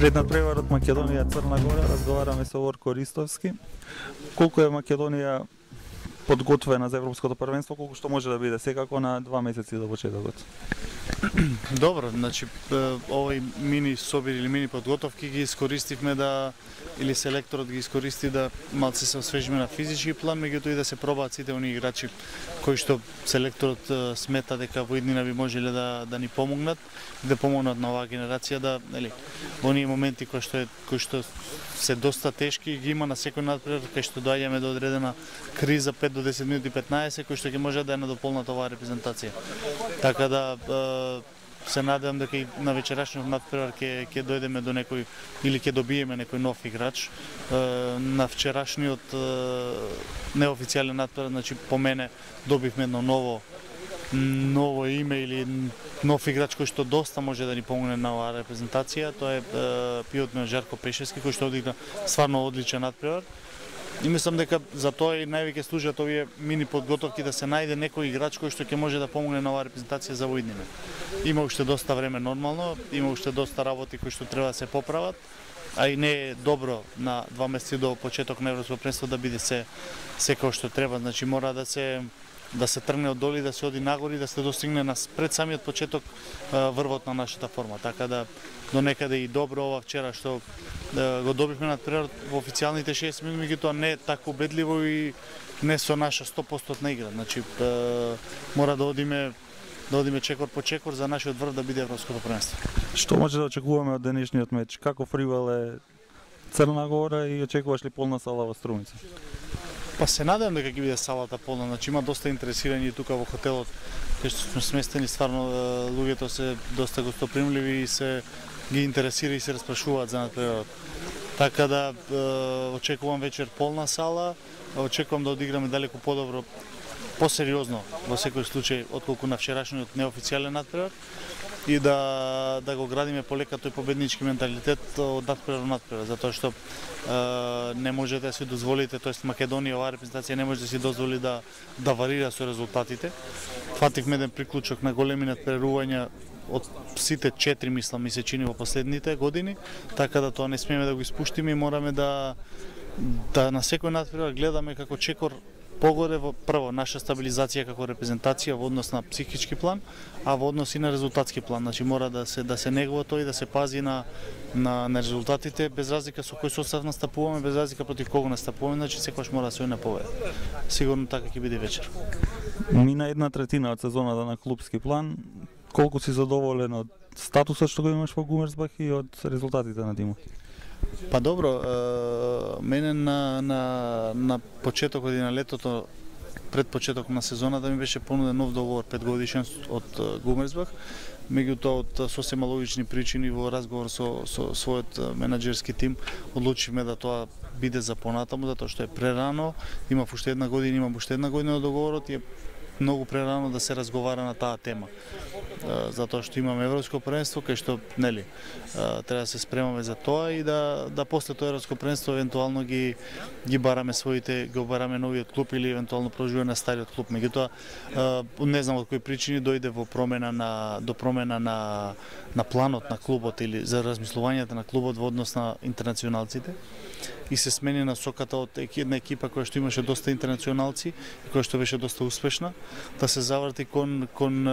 Пред надпреварот Македонија Црна Гора разговараме со Ворко Ристовски. Колку е Македонија подготвена за Европското првенство, колку што може да биде секако на 2 месеци до почетокот? Добро, значи овој мини собир или мини подготовки ги искористивме да или селекторот ги искористи да малце се освежиме на физички план, меѓутоа и да се пробаат сите оние играчи кои што селекторот смета дека во иднина би можеле да ни помогнат, да помогнат на оваа генерација да, нели, оние моменти кои што се доста тешки ги има на секој надпревар, кај што доаѓаме до одредена криза 5 до 10 минути 15 кои што ќе може да ја надополнат оваа репрезентација. Така да се надевам дека и на вечерашниот надпревар ќе дојдеме до некој или ќе добиеме некој нов играч. На вчерашниот неофицијален надпревар, значи по мене добивме едно ново име или нов играч кој што доста може да ни помогне на оваа репрезентација. Тоа е пиотот Жарко Пешевски кој што одигра стварно одличен надпревар. И мислам дека за тоа и највеќе служат овие мини подготовки да се најде некој играч кој што ќе може да помогне на оваа репрезентација за во иднина. Има уште доста време нормално, има уште доста работи кои што треба да се поправат, а и не е добро на 2 месеци до почеток на Европско првенство да биде се како што треба, значи мора да се тргне од долу и да се оди нагоре и да се достигне пред самиот почеток врвот на нашата форма. Така да до некаде и добро ова вчера што го добивме надпреварот во официјалните 60 минути, меѓутоа не е така убедливо и не со наша 100% игра. Значи мора да одиме чекор по чекор за нашиот врв да биде Европското првенство. Што може да очекуваме од денешниот меч? Каков ривал е Црна Гора и очекуваш ли полна сала во Струмица? Па се надевам дека ќе биде салата полна, значи има доста интересирани тука во хотелот, кај што сме сместени, стварно луѓето се доста гостопримливи и се ги интересира и се распрашуваат за надпреварот. Така да очекувам вечер полна сала, очекувам да одиграме далеку подобро, посериозно во секој случај отколку на вчерашниот неофицијален надпревар и да го градиме полека тој победнички менталитет од надпревар до надпревар, затоа што не можете да си дозволите, тоест Македонија, оваа репрезентација не може да си дозволи да варира со резултатите. Фативме еден приклучок на големи надпреварувања од сите 4, мислам, ми се чини во последните години, така да тоа не смееме да го испуштиме и мораме да на секој надпревар гледаме како чекор погоре во прво наша стабилизација како репрезентација во однос на психички план, а во однос и на резултатски план. Значи мора да се негува тој и да се пази на резултатите без разлика со кој состав настапуваме, без разлика против кого настапуваме, значи секогаш мора да се оди на победа. Сигурно така ќе биде вечер. Мина 1/3 од сезоната на клупски план. Колку си задоволен од статусот што го имаш во Гумерсбах и од резултатите на тимот? Па добро, мене на почетокот и на летото, пред почеток на сезоната ми беше понуден нов договор 5 годишен од Гумерсбах, меѓутоа од сосема логични причини во разговор со својот менаџерски тим одлучивме да тоа биде за понатаму, затоа што е прерано, имав уште една година на договорот и е многу прерано да се разговара на таа тема. Затоа што имаме Европско првенство, кај што нели треба да се спремаме за тоа и да после тоа Европско првенство евентуално ги бараме бараме новиот клуб или евентуално продолжуваме на стариот клуб. Меѓутоа не знам од кои причини дојде до промена на планот на клубот или за размислувањето на клубот во однос на интернационалците и се смени насоката од една екипа која што имаше доста интернационалци и која што беше доста успешна, да се заврти кон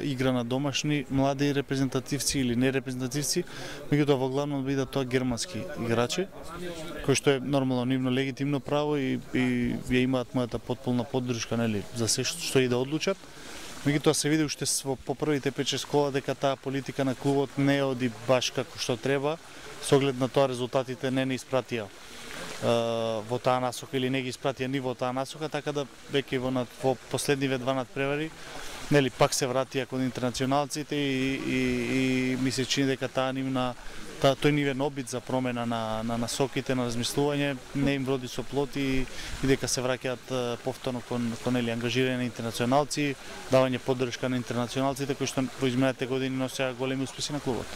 игра на домашни млади репрезентативци или нерепрезентативци, меѓутоа во главно бидат тоа германски играчи, кои што е нормално нивно легитимно право и ја имаат мојата потполна поддршка, нели, за се што и да одлучат. Меѓутоа се види уште по првите 5-6 кола дека таа политика на клубот не оди баш како што треба, со оглед на тоа резултатите не испратија во таа насока или не ги испратија ни во таа насока, така да веќе во последниве 2 надпревари нели пак се вратија кон интернационалците и ми се чини дека тој нивен обид за промена на насоките, на размислување не им вроди со плод и дека се враќаат повторно кон ангажирање на интернационалци, давање поддршка на интернационалците кои што во изминатите години носеа големи успеси на клубот.